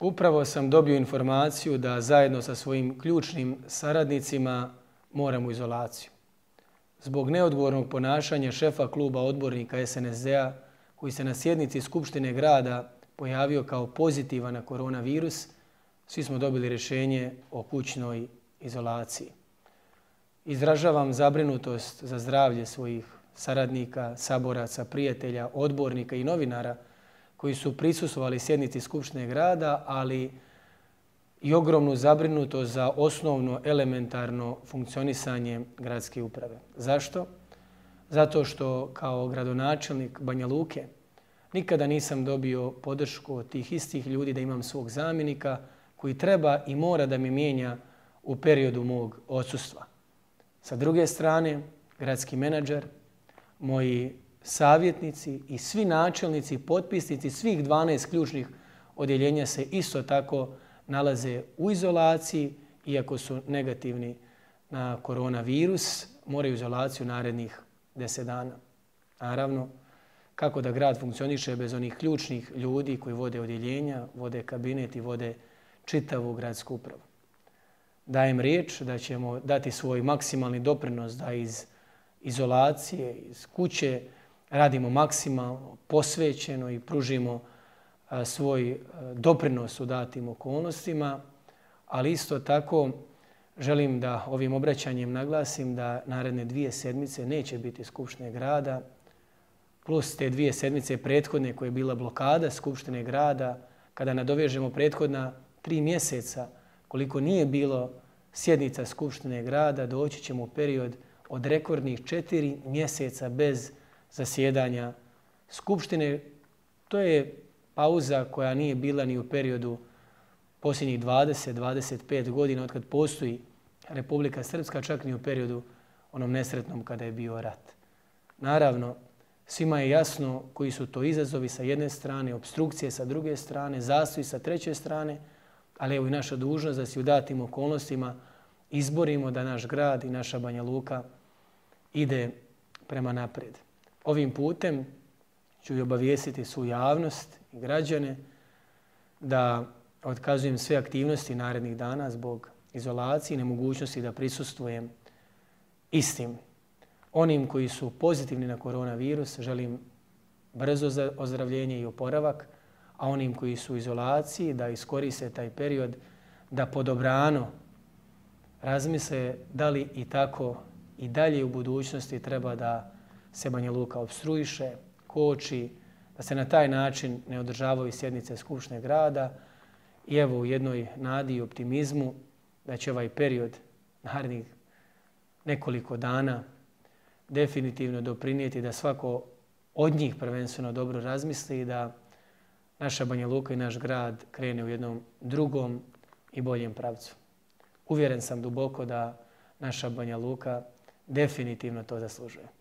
Upravo sam dobio informaciju da zajedno sa svojim ključnim saradnicima moram u izolaciju. Zbog neodgovornog ponašanja šefa kluba odbornika SNSD-a koji se na sjednici Skupštine grada pojavio kao pozitivan na koronavirus, svi smo dobili rješenje o kućnoj izolaciji. Izražavam zabrinutost za zdravlje svojih saradnika, saboraca, prijatelja, odbornika i novinara koji su prisustvovali sjednici Skupštine grada, ali i ogromnu zabrinutost za osnovno elementarno funkcionisanje gradske uprave. Zašto? Zato što kao gradonačelnik Banja Luke nikada nisam dobio podršku od tih istih ljudi da imam svog zamjenika koji treba i mora da mi mijenja u periodu mog odsustva. Sa druge strane, gradski menadžer, moji savjetnici i svi načelnici, potpisnici svih 12 ključnih odjeljenja se isto tako nalaze u izolaciji, iako su negativni na koronavirus, moraju izolaciju narednih 10 dana. Naravno, kako da grad funkcioniše bez onih ključnih ljudi koji vode odjeljenja, vode kabinet i vode čitavu gradsku upravu. Dajem riječ da ćemo dati svoj maksimalni doprinos da iz izolacije, iz kuće radimo maksimalno, posvećeno i pružimo svoj doprinos u datim okolnostima, ali isto tako želim da ovim obraćanjem naglasim da naredne 2 sedmice neće biti Skupštine grada, plus te 2 sedmice prethodne koje je bila blokada Skupštine grada, kada nadovežemo prethodna 3 mjeseca koliko nije bilo sjednica Skupštine grada, doći ćemo u period od rekordnih 4 mjeseca bez zasjedanja Skupštine. To je pauza koja nije bila ni u periodu posljednjih 20-25 godina od kad postoji Republika Srpska, čak ni u periodu onom nesretnom kada je bio rat. Naravno, svima je jasno koji su to izazovi sa jedne strane, obstrukcije sa druge strane, zastoji sa treće strane, ali evo i naša dužnost da se u datim okolnostima izborimo da naš grad i naša Banja Luka ide prema naprijed. Ovim putem ću i obavijestiti svu javnost i građane da otkazujem sve aktivnosti narednih dana zbog izolacije i nemogućnosti da prisustvujem istim. Onim koji su pozitivni na koronavirus želim brzo ozdravljenje i oporavak, a onim koji su u izolaciji da iskoriste taj period da podobrano razmisle da li i tako i dalje u budućnosti treba da se Banja Luka opstruiše, koči, da se na taj način ne održavaju sjednice Skupštine grada i evo u jednoj nadi i optimizmu da će ovaj period narednih nekoliko dana definitivno doprinijeti da svako od njih prvenstveno dobro razmisli i da naša Banja Luka i naš grad krene u jednom drugom i boljem pravcu. Uvjeren sam duboko da naša Banja Luka definitivno to zaslužuje.